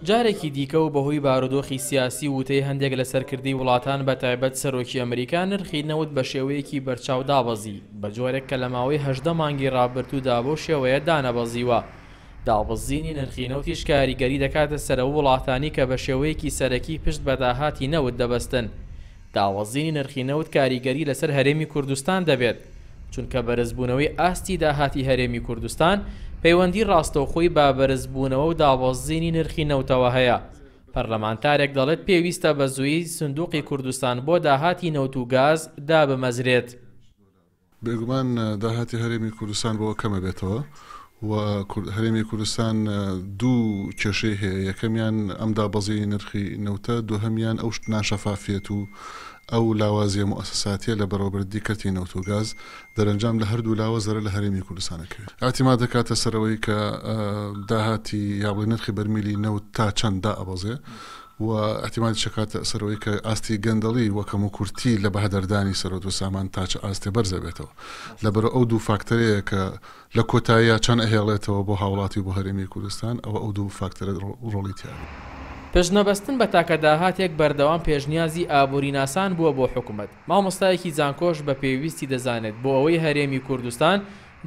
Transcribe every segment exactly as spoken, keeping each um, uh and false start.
جارێکی دیکە و بەهۆی بارودۆخی سیاسی وتەی هەندێک لە سەرکردەی وڵاتان بە تایبەت سەرۆکی ئەمریکا نرخی نەوت بە شێوەیەکی بەرچاو دابەزی، بە جۆرێک کە لە ماوەی هەژدە مانگی ڕابردوودا بەو شێوەیە دانەبەزیوە. دابەزینی نرخی نەوتیش کاریگەری دەکاتە سەر ئەو وڵاتانی کە بە شێوەیەکی سەرەکی پشت بە داهاتی نەوت دەبەستن. دابەزینی نرخی نەوت کاریگەری لەسەر هەرێمی کوردستان دەبێت، چونکە بەرزبوونەوەی ئاستی داهاتی هەرێمی کوردستان پەیوەندی ڕاستەوخۆی بە بەرزبوونەوە و دابەزینی نرخی نەوتەوە هەیە. پەرلەمانتارێک دەڵێت پێویستە بە زووی سندوقی کوردستان بۆ داهاتی نەوت و گاز دابمەزرێت. بێگومان داهاتی هەرێمی کوردستان بۆ کەمە بێتەوە و هەرێمی کوردستان دوو کێشەی هەیە، یەکەمیان ئەم دابەزینی نرخی نەوتە، دووهەمیان ئەو ناشەفافیەت و ئەو لاوازیە موئەسەساتیە لە بەڕێوەبردنی کەرتی نەوت و گاز، دەرەنجام لە هەردوو لاوە زەرەر لە هەرێمی کوردستان ئەکەوێت. اعتماد دەکاتە سەرەوەی کە داهاتی یا بڵێ نرخی بەرمیلی نەوت تا چەند دائەبەزێ و اعتمادی شکاتە سەرەوەی کە ئاستی گەندەڵی و کەموکورتی لە بەهەدەردانی سەرۆت و سامان تا چ ئاستێ بەرزە بێتەوە. لەبەرەوە ئەو دوو فاکتەرەیە کە لە کۆتاییە چەند ئەهێڵێتەوە بۆ هاوڵاتی و بۆ هەرێمی کوردستان، ئەوە ئەو دوو فاکتەرە ڕۆڵی تیاوە. پشتنەبەستن بە تاکە داهاتێک بەردەوام پێشنیازی ئابووری ناسان بووە بۆ حکوومەت. مامۆستایەکی زانکۆش بە پێویستی دەزانێت بۆ ئەوەی هەرێمی کوردستان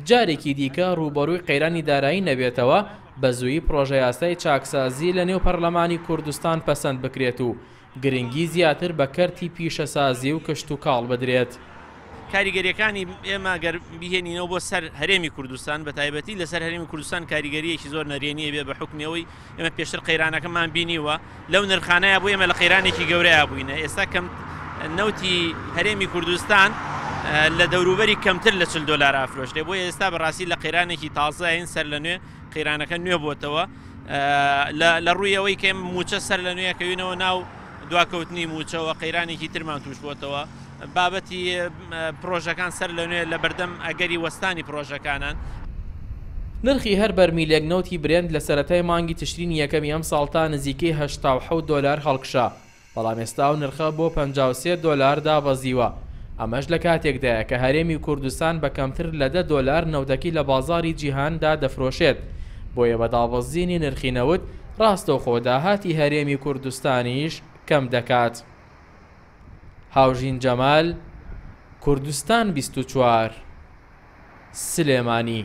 جارێکی دیکە ڕووبەڕووی قەیرانی دارایی نەبێتەوە، بە زوویی پرۆژە یاسای چاکسازی لە نێو پەرلەمانی کوردستان پەسەند بکرێت و گرنگی زیاتر بە کەرتی پیشەسازی و کشتوکاڵ بدرێت. کاریگەریەکانی ئێمە ئەگەر بهێنینەوە بۆ سەر هەرێمی کوردستان، بە تایبەتی لەسەر هەرێمی کوردستان کاریگەریەکی زۆر نەرێنیە بێ بە حکومی ئەوەی ئێمە پێشتر قەیرانەکەمان بینیوە، لەو نرخانەیە بۆ ئێمە لە قەیرانێکی گەورەیە بووینە. ئێستا کەم نەوتی هەرێمی کوردستان لە دەوروبەری کەمتر لە چل دۆلار ئافرۆشتێ، بۆ ئێستا بەڕاستی لە قەیرانێکی تازەین سەر لە نوێ قەیرانەکە نوێ بۆتەوە. لە ڕووی ئەوەی کە ئێمە موچە سەر لە نوێیەکەوینەوە ناو دواکەوتنی موچەوە قەیرانێکی ترمان توش بۆتەوە. بابەتی پرۆژەکان سەر لە نوێ لە بەردەم ئەگەری وەستانی پرۆژەکانان. نرخی هەر بەرمیلێک نەوتی برێند لە سەرەتای مانگی تشرینی یەکەمی ئەم ساڵ تا نزیکەی هەشتا و حەوت دۆلار هەڵکشا، بەڵام ئێستا ئەو نرخە بۆ پەنجا و سێ دۆلار دابەزیوە. ئەمەش لە کاتێکدایە کە هەرێمی کوردستان بە کەمتر لە دە دۆلار نەوتەکەی لە بازاری جیهاندا دەفرۆشێت، بۆیە بە دابەزینی نرخی نەوت ڕاستەوخۆ داهاتی هەرێمی کوردستانیش کەم دەکات. هاوژین جەمال، کوردستان بیست و چوار، سلێمانی.